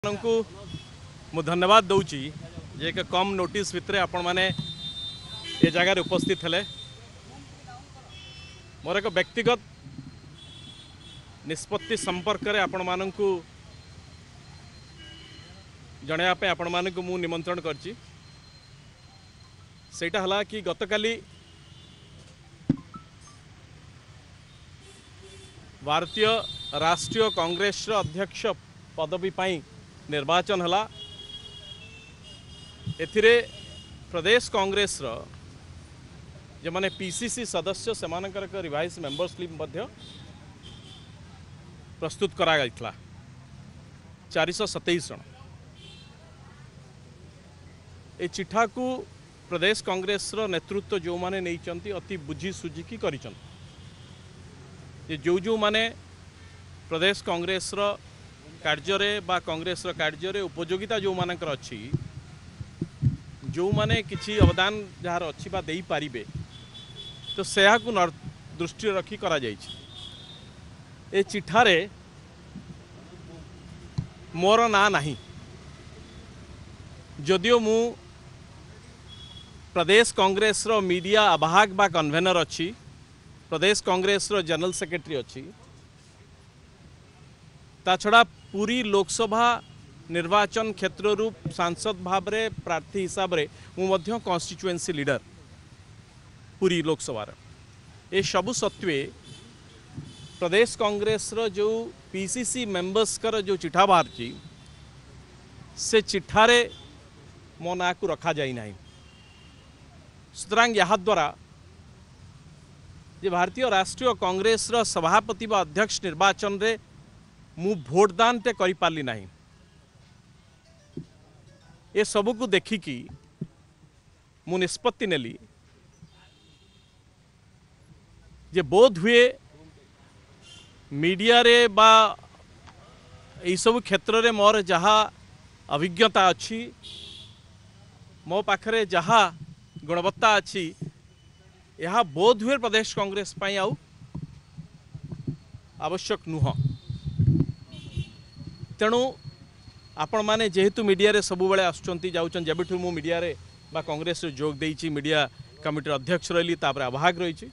ମାନଙ୍କୁ ମୁଁ ଧନ୍ୟବାଦ ଦେଉଛି ଯେ ଏକ କମ୍ ନୋଟିସ୍ ଭିତରେ ଆପଣମାନେ ଏ ଜାଗାରେ ଉପସ୍ଥିତ ହେଲେ। ମୋର ଏକ ବ୍ୟକ୍ତିଗତ ନିଷ୍ପତ୍ତି ସମ୍ପର୍କରେ ଆପଣମାନଙ୍କୁ ଜଣାଇବା ପାଇଁ ଆପଣମାନଙ୍କୁ ମୁଁ ନିମନ୍ତ୍ରଣ କରିଛି। ସେଇଟା ହେଲା କି ଗତକାଲି ଭାରତୀୟ ରାଷ୍ଟ୍ରୀୟ କଂଗ୍ରେସର ଅଧ୍ୟକ୍ଷ ପଦବୀ ପାଇଁ ନିର୍ବାଚନ ହେଲା। ଏଥିରେ ପ୍ରଦେଶ କଂଗ୍ରେସର ଯେଉଁମାନେ ପିସିସି ସଦସ୍ୟ ସେମାନଙ୍କର ଏକ ରିଭାଇଜ୍ ମେମ୍ବର ସ୍ଲିପ୍ ମଧ୍ୟ ପ୍ରସ୍ତୁତ କରାଯାଇଥିଲା, 427 ଜଣ। ଏ ଚିଠାକୁ ପ୍ରଦେଶ କଂଗ୍ରେସର ନେତୃତ୍ୱ ଯେଉଁମାନେ ନେଇଛନ୍ତି ଅତି ବୁଝି ସୁଝିକି କରିଛନ୍ତି ଯେ ଯେଉଁ ଯେଉଁମାନେ ପ୍ରଦେଶ କଂଗ୍ରେସର କାର୍ଯ୍ୟରେ ବା କଂଗ୍ରେସର କାର୍ଯ୍ୟରେ ଉପଯୋଗିତା ଯେଉଁମାନଙ୍କର ଅଛି, ଯେଉଁମାନେ କିଛି ଅବଦାନ ଯାହାର ଅଛି ବା ଦେଇପାରିବେ, ତ ସେହାକୁ ଦୃଷ୍ଟିରେ ରଖି କରାଯାଇଛି। ଏ ଚିଠାରେ ମୋର ନାଁ ନାହିଁ, ଯଦିଓ ମୁଁ ପ୍ରଦେଶ କଂଗ୍ରେସର ମିଡ଼ିଆ ଆବାହକ ବା କନଭେନର ଅଛି, ପ୍ରଦେଶ କଂଗ୍ରେସର ଜେନେରାଲ ସେକ୍ରେଟାରୀ ଅଛି, ତା ଛଡ଼ା ପୁରୀ ଲୋକସଭା ନିର୍ବାଚନ କ୍ଷେତ୍ରରୁ ସାଂସଦ ଭାବରେ ପ୍ରାର୍ଥୀ ହିସାବରେ ମୁଁ ମଧ୍ୟ କନଷ୍ଟିଚୁଏନ୍ସି ଲିଡର ପୁରୀ ଲୋକସଭାର। ଏସବୁ ସତ୍ତ୍ୱେ ପ୍ରଦେଶ କଂଗ୍ରେସର ଯେଉଁ ପିସିସି ମେମ୍ବର୍ସଙ୍କର ଯେଉଁ ଚିଠା ବାହାରିଛି ସେ ଚିଠାରେ ମୋ ନାଁକୁ ରଖାଯାଇ ନାହିଁ। ସୁତରାଂ ଏହାଦ୍ୱାରା ଯେ ଭାରତୀୟ ରାଷ୍ଟ୍ରୀୟ କଂଗ୍ରେସର ସଭାପତି ବା ଅଧ୍ୟକ୍ଷ ନିର୍ବାଚନରେ ମୁଁ ଭୋଟଦାନଟେ କରିପାରିଲି ନାହିଁ। ଏସବୁକୁ ଦେଖିକି ମୁଁ ନିଷ୍ପତ୍ତି ନେଲି ଯେ ବୋଧ ହୁଏ ମିଡ଼ିଆରେ ବା ଏଇସବୁ କ୍ଷେତ୍ରରେ ମୋର ଯାହା ଅଭିଜ୍ଞତା ଅଛି, ମୋ ପାଖରେ ଯାହା ଗୁଣବତ୍ତା ଅଛି, ଏହା ବୋଧ ହୁଏ ପ୍ରଦେଶ କଂଗ୍ରେସ ପାଇଁ ଆଉ ଆବଶ୍ୟକ ନୁହଁ। ତେଣୁ ଆପଣମାନେ ଯେହେତୁ ମିଡ଼ିଆରେ ସବୁବେଳେ ଆସୁଛନ୍ତି ଯାଉଛନ୍ତି, ଯେବେଠୁ ମୁଁ ମିଡ଼ିଆରେ ବା କଂଗ୍ରେସରେ ଯୋଗ ଦେଇଛି, ମିଡ଼ିଆ କମିଟିର ଅଧ୍ୟକ୍ଷ ରହିଲି, ତାପରେ ଆବାହକ ରହିଛି,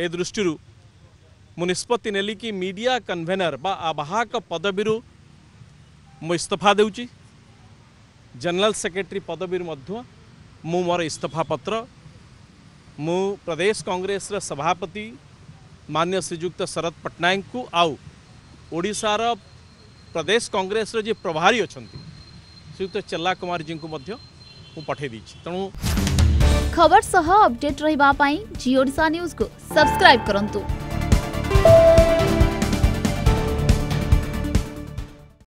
ଏ ଦୃଷ୍ଟିରୁ ମୁଁ ନିଷ୍ପତ୍ତି ନେଲି କି ମିଡ଼ିଆ କନଭେନର ବା ଆବାହକ ପଦବୀରୁ ମୁଁ ଇସ୍ତଫା ଦେଉଛି। ଜେନେରାଲ ସେକ୍ରେଟାରୀ ପଦବୀରୁ ମଧ୍ୟ ମୁଁ ମୋର ଇସ୍ତଫା ପତ୍ର ମୁଁ ପ୍ରଦେଶ କଂଗ୍ରେସର ସଭାପତି ମାନ୍ୟ ଶ୍ରୀଯୁକ୍ତ ଶରତ ପଟ୍ଟନାୟକଙ୍କୁ ଆଉ ଓଡ଼ିଶାର ପ୍ରଦେଶ କଂଗ୍ରେସର ଯିଏ ପ୍ରଭାରୀ ଅଛନ୍ତି ଶ୍ରୀଯୁକ୍ତ ଚେଲ୍ଲା କୁମାରଜୀଙ୍କୁ ମଧ୍ୟ ମୁଁ ପଠାଇ ଦେଇଛି। ତେଣୁ ଖବର ସହ ଅପଡେଟ୍ ରହିବା ପାଇଁ ଜି ଓଡ଼ିଶା ନ୍ୟୁଜକୁ ସବସ୍କ୍ରାଇବ୍ କରନ୍ତୁ।